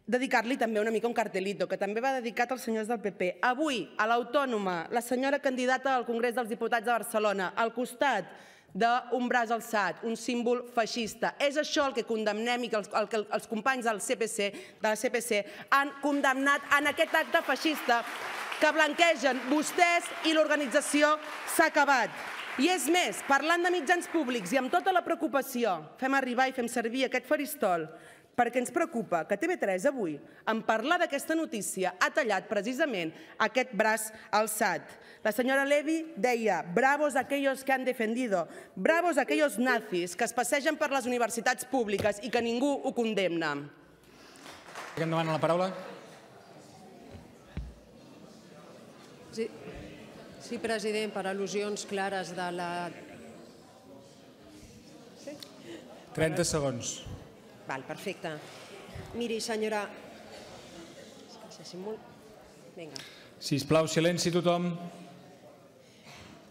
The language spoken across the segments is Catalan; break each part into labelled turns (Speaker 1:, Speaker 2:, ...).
Speaker 1: dedicar-li també una mica un cartelito, que també va dedicat als senyors del PP. Avui, a l'Autònoma, la senyora candidata al Congrés dels Diputats de Barcelona, al costat d'un braç alçat, un símbol feixista. És això el que condemnem i el que els companys de la CPC han condemnat en aquest acte feixista que blanquegen vostès i l'organització S'ha acabat. I és més, parlant de mitjans públics i amb tota la preocupació, fem arribar i fem servir aquest faristol perquè ens preocupa que TV3 avui, en parlar d'aquesta notícia, ha tallat precisament aquest braç alçat. La senyora Levy deia, bravos aquellos que han defendido, bravos aquellos nazis que es passegen per les universitats públiques i que ningú ho condemna.
Speaker 2: Qui em demana la paraula?
Speaker 3: Sí, president, per al·lusions clares de la...
Speaker 2: 30 segons.
Speaker 3: Val, perfecte. Miri, senyora... Vinga.
Speaker 2: Sisplau, silenci tothom.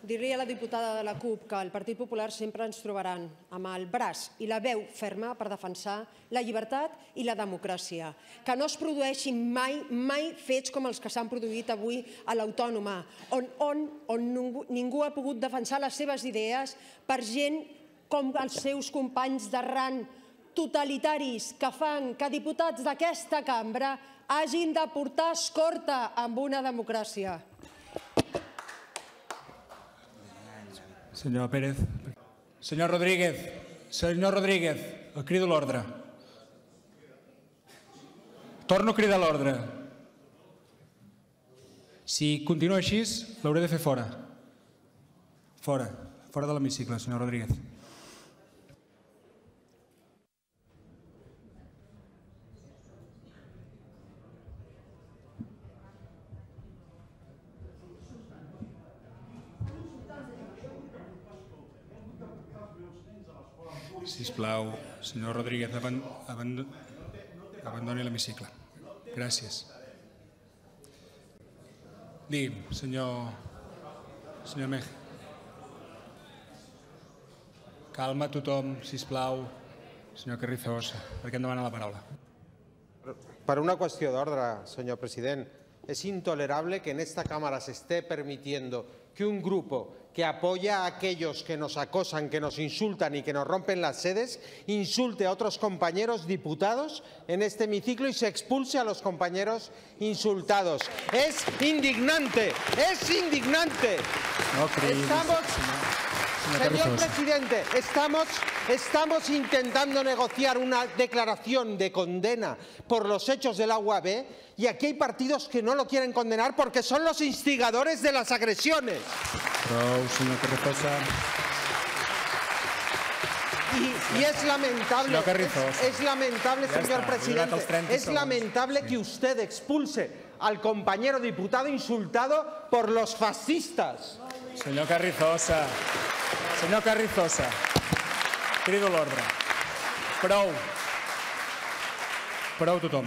Speaker 3: Dir-li a la diputada de la CUP que el Partit Popular sempre ens trobaran amb el braç i la veu ferma per defensar la llibertat i la democràcia. Que no es produeixin mai fets com els que s'han produït avui a l'Autònoma, on ningú ha pogut defensar les seves idees per gent com els seus companys d'arran totalitaris que fan que diputats d'aquesta cambra hagin de portar escorta amb una democràcia.
Speaker 2: Senyor Pérez. Senyor Rodríguez. Senyor Rodríguez, el crido a l'ordre. Torno a cridar a l'ordre. Si continua així, l'hauré de fer fora. Fora de l'hemicicle, senyor Rodríguez. Sisplau, senyor Rodríguez, abandoni l'hemicicle. Gràcies. Digui'm, senyor Mej. Calma tothom, sisplau. Senyor Carrizosa, per què em demana la paraula?
Speaker 4: Per una qüestió d'ordre, senyor president. Es intolerable que en esta Cámara se esté permitiendo que un grupo que apoya a aquellos que nos acosan, que nos insultan y que nos rompen las sedes, insulte a otros compañeros diputados en este hemiciclo y se expulse a los compañeros insultados. ¡Es indignante! ¡Es indignante! Señor presidente, estamos intentando negociar una declaración de condena por los hechos del Agua B y aquí hay partidos que no lo quieren condenar porque son los instigadores de las agresiones.
Speaker 2: Señor Carrizosa.
Speaker 4: Y es lamentable, señor presidente, es lamentable que usted expulse al compañero diputado insultado por los fascistas.
Speaker 2: Senyor Carrizosa, crido a l'ordre. Prou tothom.